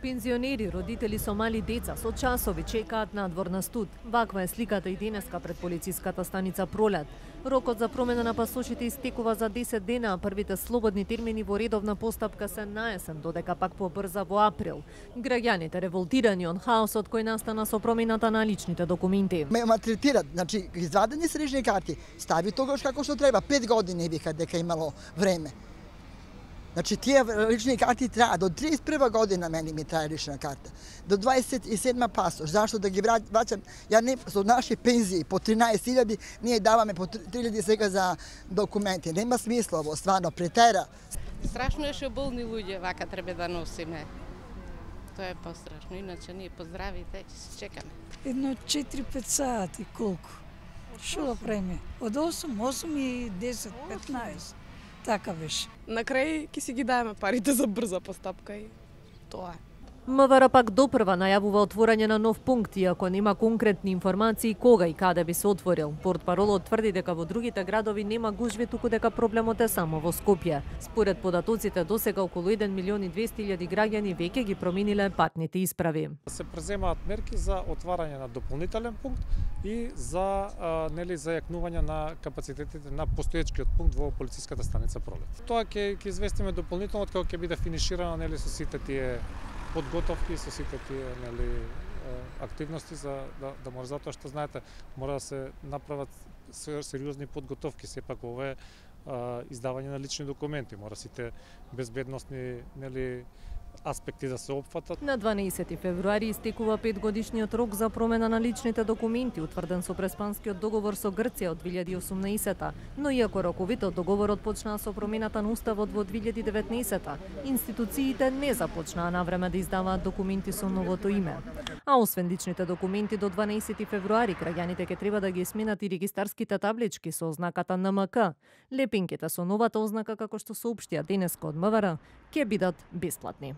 Пензионери, родители со мали деца со часови чекаат надвор на студ. Ваква е сликата и денеска пред полициската станица Пролет. Рокот за промена на пасошите истекува за 10 дена, а првите слободни термини во редовна постапка се на есен, додека пак побрза во април. Граѓаните револтирани од хаосот кој настана со промената на личните документи. Ме малтретират, значи извадени се лични карти, стави тогаш како што треба, 5 години вика дека имало време. Значи тие лични карти траа до 31 година, мене ми трае лична карта. До 27 пасош. Зашто да ги враќам? Ја не со наши пензии по 13.000, ние даваме по 3.000 сега за документи. Нема смисла ово, стварно претера. Страшно е што болни луѓе вака треба да носиме. Тоа е пострашно, иначе ние поздравите, ќе се чекаме. Едно 4-5 сати колку. Што да правиме? Од 8 и 10, 15. Така беше. На крај ќе си ги даеме парите за брза постапка и тоа е. МВР пак допрва најавува отворање на нов пункт, иако нема конкретни информации кога и каде би се отворил. Портпаролот тврди дека во другите градови нема гужви, туку дека проблемот е само во Скопје. Според податоците, досега околу 1.200.000 граѓани веќе ги промениле патните исправи. Се преземаат мерки за отварање на дополнителен пункт и за зајакнување на капацитетите на постоечкиот пункт во полициската станица Пролет. Тоа ќе известиме дополнително кога ќе биде финиширано со сите тие подготовки, со сите тие активности за да може, затоа што знаете, мора да се направат сериозни подготовки, сепак ова е издавање на лични документи, мора сите безбедносни аспекти да се опфатат. На 12 февруари истекува 5-годишниот рок за промена на личните документи, утврден со Преспанскиот договор со Грција од 2018-та, но иако роковите од договорот почнаа со промената на уставот во 2019-та, институциите не започнаа навреме да издаваат документи со новото име. А освен личните документи, до 12 февруари граѓаните ќе треба да ги сменат и регистарските таблички со ознаката НМК. Лепинките со новата ознака, како што соопштија денеска од МВР, ќе бидат бесплатни.